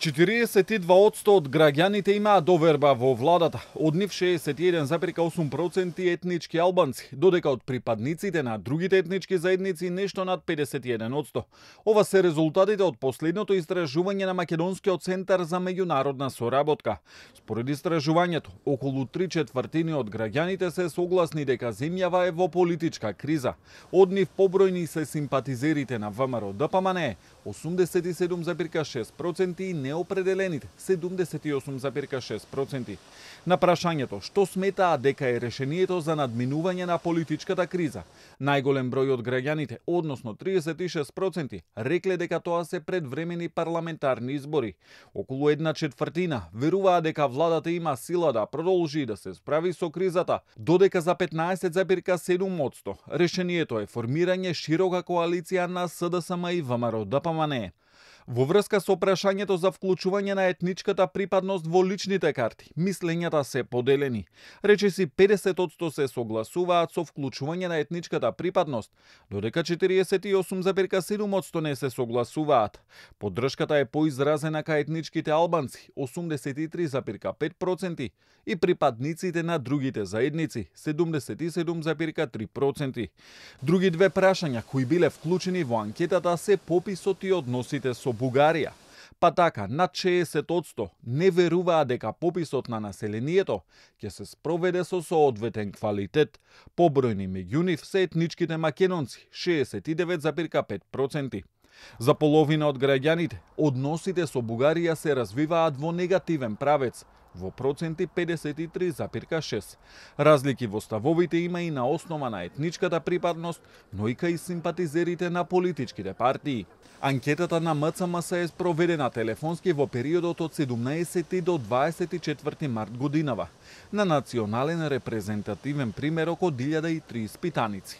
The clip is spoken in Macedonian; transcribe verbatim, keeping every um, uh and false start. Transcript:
четириесет и два одсто од граѓаните имаат доверба во владата, од нив шеесет и еден зарез и осум проценти етнички албанци, додека од припадниците на другите етнички заедници нешто над педесет и еден одсто. Ова се резултатите од последното истражување на Македонскиот центар за меѓународна соработка. Според истражувањето, околу три четвртини од граѓаните се согласни дека земјава е во политичка криза. Од нив побројни се симпатизерите на ВМРО-ДПМНЕ, осумдесет и седум зарез и шест проценти и неопределените седумдесет и осум зарез и шест проценти. На прашањето што сметаат дека е решението за надминување на политичката криза, најголем број од граѓаните, односно триесет и шест проценти, рекле дека тоа се предвремени парламентарни избори. Околу една четвртина веруваа дека владата има сила да продолжи да се справи со кризата, додека за петнаесет зарез и седум одсто решението е формирање широка коалиција на СДСМ и ВМРО-ДПМНЕ. Во врска со прашањето за вклучување на етничката припадност во личните карти, мислењата се поделени. Речиси педесет одсто се согласуваат со вклучување на етничката припадност, додека четириесет и осум зарез и седум одсто не се согласуваат. Поддршката е поизразена кај етничките албанци, осумдесет и три зарез и пет проценти, и припадниците на другите заедници, седумдесет и седум зарез и три проценти. Други две прашања кои биле вклучени во анкетата се пописот и односите со Бугарија. Па така, над шеесет одсто не веруваа дека пописот на населението ќе се спроведе со соодветен квалитет. Побројни меѓу нив се етничките македонци, шеесет и девет зарез и пет проценти. За половина од граѓаните, односите со Бугарија се развиваат во негативен правец, во проценти педесет и три зарез и шест. Разлики во ставовите има и на основа на етничката припадност, но и кај симпатизерите на политичките партии. Анкетата на МЦМС е спроведена телефонски во периодот од седумнаесети до дваесет и четврти март годинава, на национален репрезентативен примерок од илјада и три испитаници.